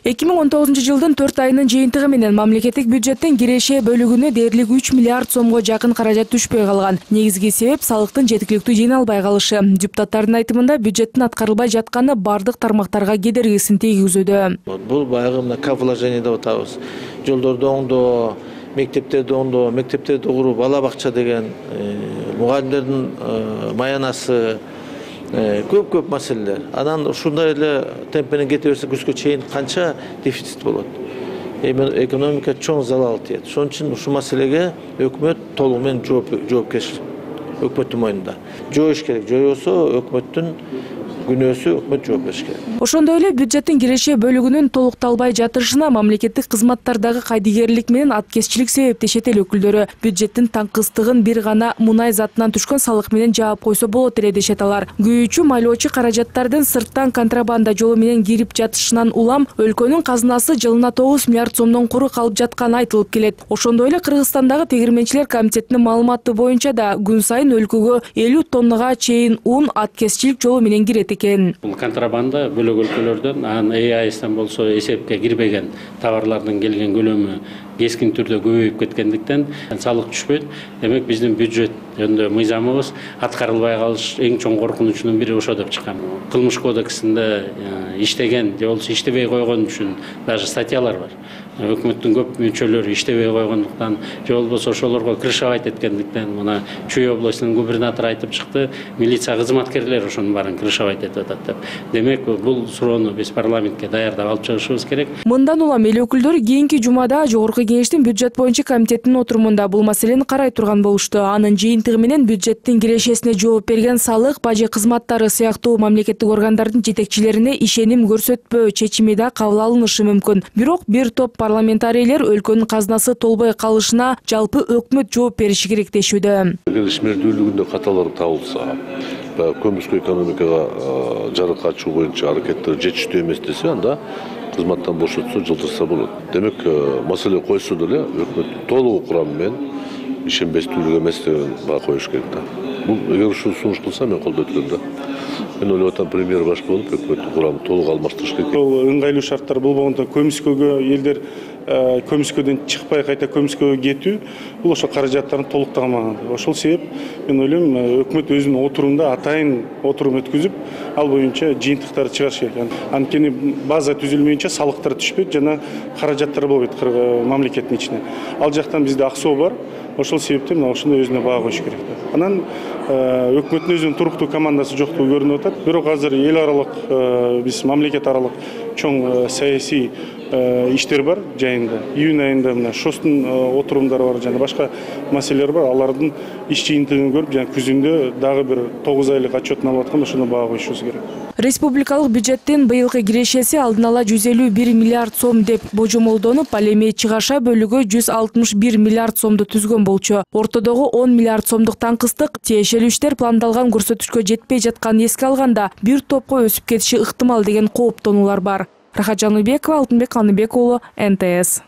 2019 жылдын 4 айынын жыйынтыгы менен мамлекеттик бюджеттин киреше бөлүгүнө дээрлик 3 миллиард сомго жакын каражат түшпөй калган. Негизги себеп салыктын жеткиликтүү жыйналбай калышы. Депутаттардын айтымында бюджеттин аткарылбай жатканы бардык тармактарга кедергисин тийгизүүдө. Бул баягы мына капвложение деп атабыз. Жолдорду оңдоо, мектептерди оңдоо, мектептерди куруу, бала бакча деген, мугалимдердин маянасы, көп маселелер. Анан ушундай эле темп менен кете берсе күзгө чейин канча дефицит болот. Экономика чоң залал тиет. Ошон үчүн ушул маселеге өкмөт толугу менен жоопкерчилик өкмөттүн мойнунда. Жоюш керек. Жоюусо өкмөттүн күнөөсү, өкмөт жооп бериш керек. Ошондой эле бюджеттин киреше бөлүгүнүн толукталбай жатышына мамлекеттик кызматтардагы кайдыгерлик менен аткезчилик себептешет эл өкүлдөрү. Бюджеттин таңкыстыгын бир гана мунай затынан түшкөн салык менен жаап койсо болот эле дешет алар. Күйүүчү майлоочу каражаттардын сырттан контрабанда жолу менен кирип жатышынан улам өлкөнүн казынасы жылына 9 миллиард сомдон куру калып жатканы айтылып келет. Ошондой эле Кыргызстандагы тегирменчилер комитетинин маалыматы боюнча да күн сайын өлкөгө 50 тоннага чейин ун аткезчилик жолу менен кирет. Бул контрабанда бөлөк өлкөлөрдөн, анан ЭАСтан болсо эсепке кирбеген товарлардын келген көлөмү кескин түрдө көбөйүп кеткендиктен салык түшпөйт. Демек биздин бюджет жөнүндө мыйзамыбыз аткарылбай калыш эң чоң коркунучунун бири ошо деп чыккан. Кылмыш кодексинде иштеген же болбосо иштебей койгон үчүн даже статьялар бар. Өкмөттүн көп мүчөлөрү иштебей койгондуктан же болбосо ошолорго крышабайт эткендиктен мына Чүй областынын губернатору айтып чыкты, милиция кызматкерлери ошонун баарын крышабайт этип атат деп. Демек бул суроону биз парламентке даярдап алып чыгышыбыз керек. Мындан улам эл өкүлдөрү кийинки жумада Жогорку Кеңештин бюджет боюнча комитетинин отурумунда бул маселени карай турган болушту. Анын жыйынтыгы менен бюджеттин кирешесине жооп берген салык, бажы кызматтары сыяктуу мамлекеттик органдардын жетекчилерине ишеним көрсөтпөө чечими да кабыл алынышы мүмкүн. Бирок бир топ парламентарийлер өлкөнүн казынасы толбой калышына жалпы өкмөт жооп бериши керек дешүүдө. Эгер ишмердүүлүгүндө каталар табылса, көмүскө экономикага жарык ачуу боюнча аракеттер жетиштүү эмес десе, анда кызматтан бошотсо, жылдырса болот. Демек, маселе койсо деле өкмөт толугу курамы менен ишенбестүүлүк эмес деген баа коюш керек да. Бул эгер ушул сунуш кылса, мен колдойт элем да. Мен ойлоп атам, премьер баш болуп өкмөттүн курамын толук алмаштырыш керек. Бул ыңгайлуу шарттар болбогондо көмүскөгө элдер көмүскөдөн чыкпай кайта көмүскөгө кетүү, бул ошо каражаттарын толукталмаган. Ошол себеп мен ойлойм, өкмөт өзүнүн отурумда атайын отурум өткүзүп, ал боюнча жыйынтыктарды чыгарыш керек. Анткени база түзүлмөйүнчө салыктар түшпөйт жана каражаттар болбойт мамлекеттин ичине. Ал жактан бизде аксоо бар. Ошол себептен ошондой өзүнө баа коюш керек. Анан өкмөттүн өзүнүн туруктуу командасы жоктугу көрүнүп атат. Бирок азыр эл аралык, биз мамлекет аралык чоң саясий иштер бар жайында. Июнь айында мына ШОСтун отурумдары бар жана башка маселелер бар. Алардын иш жыйынтыгын көрүп, жана күзүндө дагы бир 9 айлык отчетун алып атканда ошону баа коюшубуз керек. Республикалык бюджеттин быйылкы кирешеси алдын ала 151 миллиард сом деп божомолдонуп, ал эми чыгаша бөлүгү 161 миллиард сомду түзгөн болчу. Ортодогу 10 миллиард сомдук таңкыстык тиешелүү иштер пландалган көрсөтүчкө жетпей жатканын эске алганда бир топко өсүп кетиши ыктымал деген кооптонуулар бар. Рахат Жаныбекова, Алтынбек Каныбек уулу, НТС.